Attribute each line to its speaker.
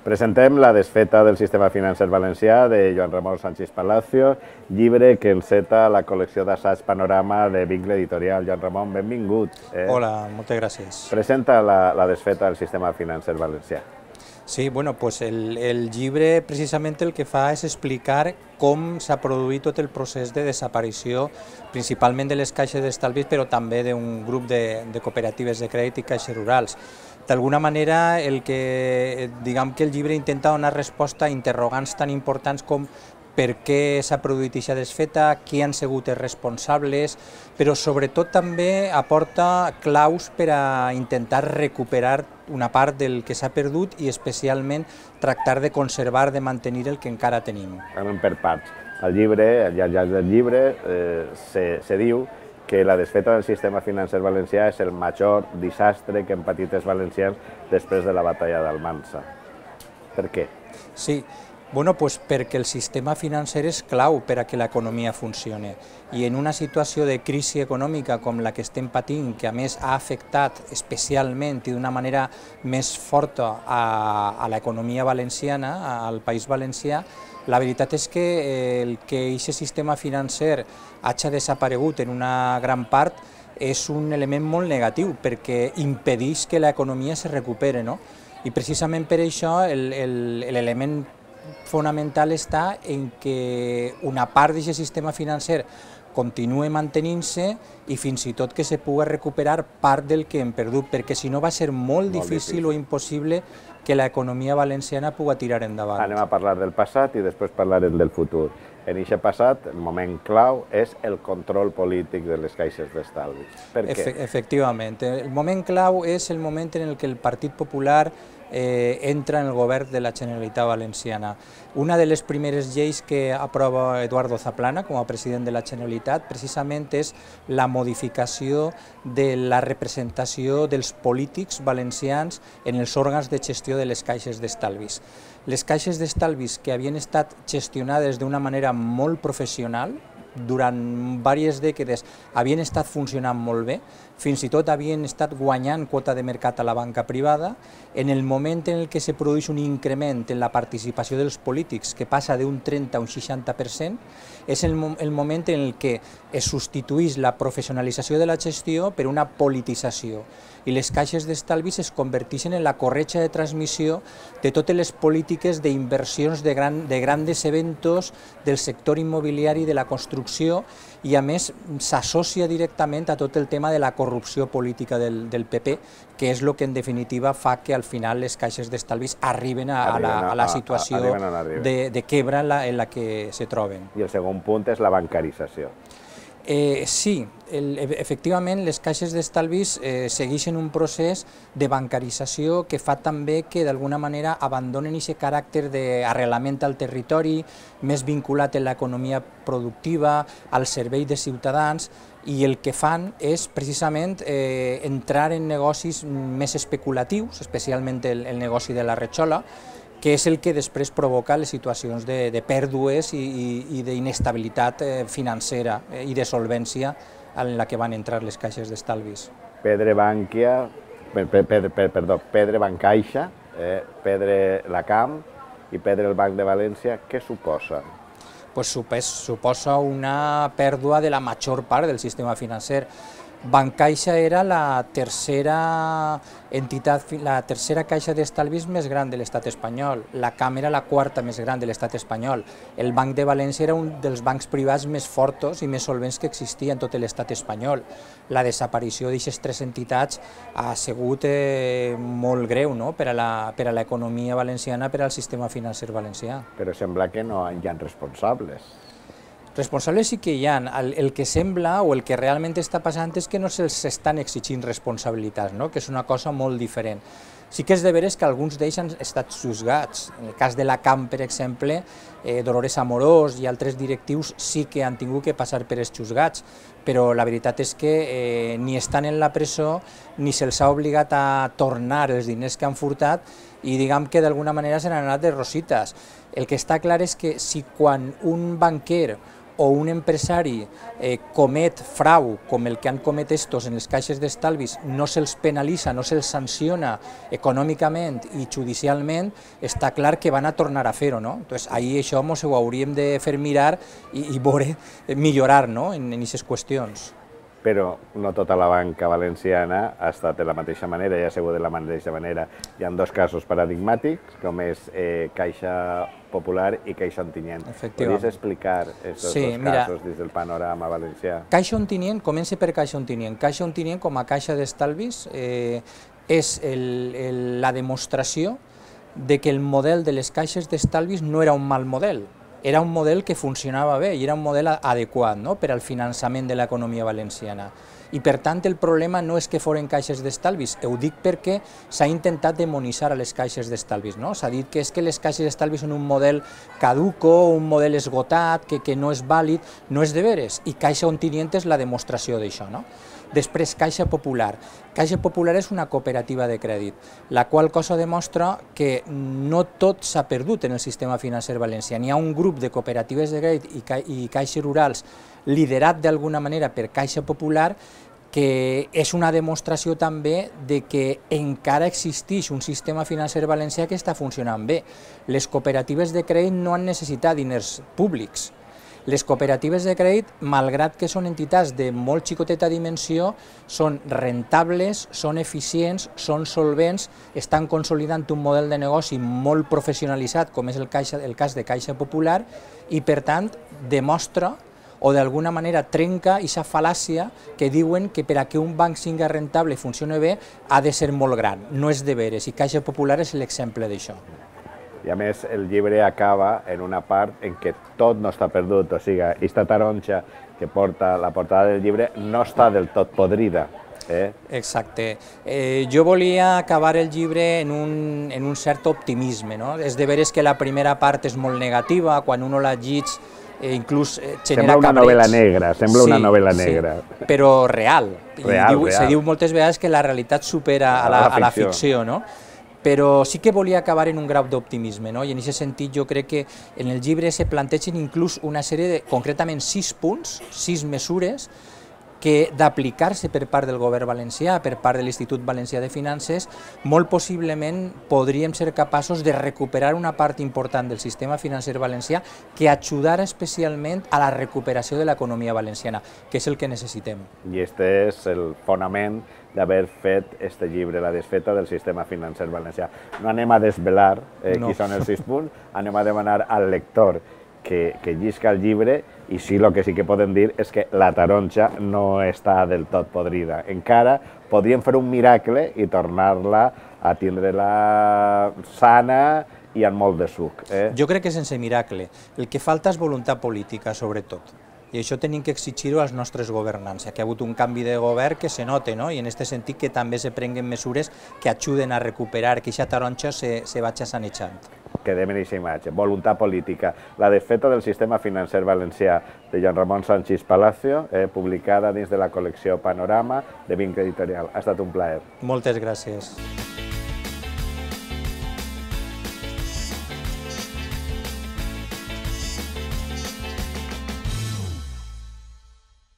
Speaker 1: Presentem La desfeta del sistema financer valencià de Joan Ramon Sánchez Palacio, llibre que enceta la col·lecció d'assaig Panorama de Vincle Editorial. Joan Ramon, benvingut.
Speaker 2: Hola, moltes gràcies.
Speaker 1: Presenta la desfeta del sistema financer valencià.
Speaker 2: Sí, bueno, pues el llibre precisament el que fa és explicar com s'ha produït tot el procés de desaparició, principalment de les caixes d'estalvis, però també d'un grup de cooperatives de crèdit i caixes rurals. D'alguna manera, diguem que el llibre intenta donar resposta a interrogants tan importants com per què s'ha produït aquesta desfeta, qui han sigut els responsables, però sobretot també aporta claus per a intentar recuperar una part del que s'ha perdut i especialment tractar de conservar, de mantenir el que encara tenim.
Speaker 1: Anem per parts. Al llibre, al llarg del llibre, se diu que la desfeta del sistema financer valencià és el major desastre que han patit els valencians després de la batalla d'Almansa. Per què?
Speaker 2: Sí, bueno, pues perquè el sistema financer és clau per a que l'economia funcioni i en una situació de crisi econòmica com la que estem patint, que a més ha afectat especialment i d'una manera més forta a l'economia valenciana, al País Valencià, la veritat és que el que aquest sistema financer hagi desaparegut en una gran part és un element molt negatiu perquè impedeix que l'economia se recuperi, no? I precisament per això l'element fonamental està en que una part d'aquest sistema financer continua mantenint-se i fins i tot que se pugui recuperar part del que hem perdut, perquè si no va ser molt difícil o impossible que l'economia valenciana pugui tirar endavant.
Speaker 1: Anem a parlar del passat i després parlarem del futur. En aquest passat, el moment clau és el control polític de les caixes d'estalvis. Per què?
Speaker 2: Efectivament. El moment clau és el moment en què el Partit Popular entra en el govern de la Generalitat Valenciana. Una de les primeres lleis que aprova Eduardo Zaplana com a president de la Generalitat precisament és la modificació de la representació dels polítics valencians en els òrgans de gestió de les caixes d'estalvis. Les caixes d'estalvis que havien estat gestionades d'una manera molt professional, durant diverses dècades havien estat funcionant molt bé, fins i tot havien estat guanyant quota de mercat a la banca privada. En el moment en què se produeix un increment en la participació dels polítics, que passa d'un 30 a un 60%, és el moment en què es substitueix la professionalització de la gestió per una politització i les caixes d'estalvis es converteixen en la corretja de transmissió de totes les polítiques d'inversions de grans eventos del sector immobiliari, de la construcció, i a més s'associa directament a tot el tema de la corrupció política del PP, que és el que en definitiva fa que al final les caixes d'estalvis arriben a la situació de quebra en la que se troben.
Speaker 1: I el segon punt és la bancarització.
Speaker 2: Sí, efectivament les caixes d'estalvis segueixen un procés de bancarització que fa també que d'alguna manera abandonen aquest caràcter d'arrelament al territori, més vinculat a l'economia productiva, al servei de ciutadans, i el que fan és precisament entrar en negocis més especulatius, especialment el negoci de la retxola, que és el que després provoca les situacions de pèrdues i d'inestabilitat financera i de solvència en la que van entrar les caixes d'estalvis.
Speaker 1: Pedra Bancaixa, Pedra Lacam i Pedra el Banc de València, què suposa?
Speaker 2: Suposa una pèrdua de la major part del sistema financer. Bancaixa era la tercera caixa d'estalvis més gran de l'estat espanyol, la CAM era la quarta més gran de l'estat espanyol, el Banc de València era un dels bancs privats més forts i més solvents que existia en tot l'estat espanyol. La desaparició d'aquestes tres entitats ha sigut molt greu per a l'economia valenciana, per al sistema financer valencià.
Speaker 1: Però sembla que no hi ha responsables.
Speaker 2: Responsables sí que hi ha. El que sembla o el que realment està passant és que no se'ls estan exigint responsabilitats, que és una cosa molt diferent. Sí que és de veres que alguns d'ells han estat juzgats. En el cas de la CAM, per exemple, Dolores Amorós i altres directius sí que han tingut que passar per els juzgats, però la veritat és que ni estan en la presó ni se'ls ha obligat a tornar els diners que han furtat i diguem que d'alguna manera se n'han anat de rosites. El que està clar és que si quan un banquer o un empresari comet frau com el que han comès estos en les caixes d'estalvis, no se'ls penalitza, no se'ls sanciona econòmicament i judicialment, està clar que van a tornar a fer-ho, no? Entonces, ahí això mos ho hauríem de fer mirar i veure, millorar, no?, en aquestes qüestions.
Speaker 1: Però no tota la banca valenciana ha estat de la mateixa manera i ha sigut de la mateixa manera. Hi ha dos casos paradigmàtics, com és Caixa Popular i Caixa Ontinyent. Podries explicar aquests dos casos des del panorama valencià?
Speaker 2: Caixa Ontinyent, comença per Caixa Ontinyent. Caixa Ontinyent, com a caixa d'estalvis, és la demostració de que el model de les caixes d'estalvis no era un mal model. Era un model que funcionava bé i era un model adequat per al finançament de l'economia valenciana. I per tant el problema no és que foren caixes d'estalvis, ho dic perquè s'ha intentat demonitzar a les caixes d'estalvis. S'ha dit que és que les caixes d'estalvis són un model caduco, un model esgotat, que no és vàlid, no és de veres, i Caixa Ontinyent és la demostració d'això. Després, Caixa Popular. Caixa Popular és una cooperativa de crèdit, la qual cosa demostra que no tot s'ha perdut en el sistema financer valencià. Hi ha un grup de cooperatives de crèdit i caixes rurals liderat d'alguna manera per Caixa Popular, que és una demostració també de que encara existeix un sistema financer valencià que està funcionant bé. Les cooperatives de crèdit no han necessitat diners públics. Les cooperatives de crèdit, malgrat que són entitats de molt xicoteta dimensió, són rentables, són eficients, són solvents, estan consolidant un model de negoci molt professionalitzat, com és el cas de Caixa Popular, i per tant demostra o d'alguna manera trenca aquesta fal·làcia que diuen que per a que un banc sigui rentable i funcioni bé ha de ser molt gran. No és de veres, i Caixa Popular és l'exemple d'això.
Speaker 1: I a més el llibre acaba en una part en què tot no està perdut, o sigui, aquesta taronja que porta la portada del llibre no està del tot podrida.
Speaker 2: Exacte. Jo volia acabar el llibre en un cert optimisme. És de veres que la primera part és molt negativa, quan uno la llegeix inclús genera cabreig.
Speaker 1: Sembla una novel·la negra, sembla una novel·la negra.
Speaker 2: Però real. Se diu moltes vegades que la realitat supera a la ficció, no? Però sí que volia acabar en un grau d'optimisme, i en aquest sentit jo crec que en el llibre se plantegen inclús una sèrie de, concretament 6 punts, 6 mesures, que d'aplicar-se per part del govern valencià, per part de l'Institut Valencià de Finances, molt possiblement podríem ser capaços de recuperar una part important del sistema financer valencià que ajudara especialment a la recuperació de l'economia valenciana, que és el que necessitem.
Speaker 1: I aquest és el fonament d'haver fet aquest llibre, La desfeta del sistema financer valencià. No anem a desvelar qui són els 6 punts, anem a demanar al lector que llisca el llibre, i sí, el que sí que podem dir és que la taronja no està del tot podrida. Encara podríem fer un miracle i tornar-la a tindre-la sana i amb molt de suc.
Speaker 2: Jo crec que sense miracle. El que falta és voluntat política, sobretot. I això tenim que exigir-ho als nostres governants. Aquí ha hagut un canvi de govern que se nota, i en aquest sentit que també se prenguen mesures que ajuden a recuperar, que aquesta taronja se vagi sanejant.
Speaker 1: Quedem en aquesta imatge. Voluntat política. La desfeta del sistema financer valencià de Joan Ramon Sanchis Palacio, publicada dins de la col·lecció Panorama de Vinc Editorial. Ha estat un plaer.
Speaker 2: Moltes gràcies.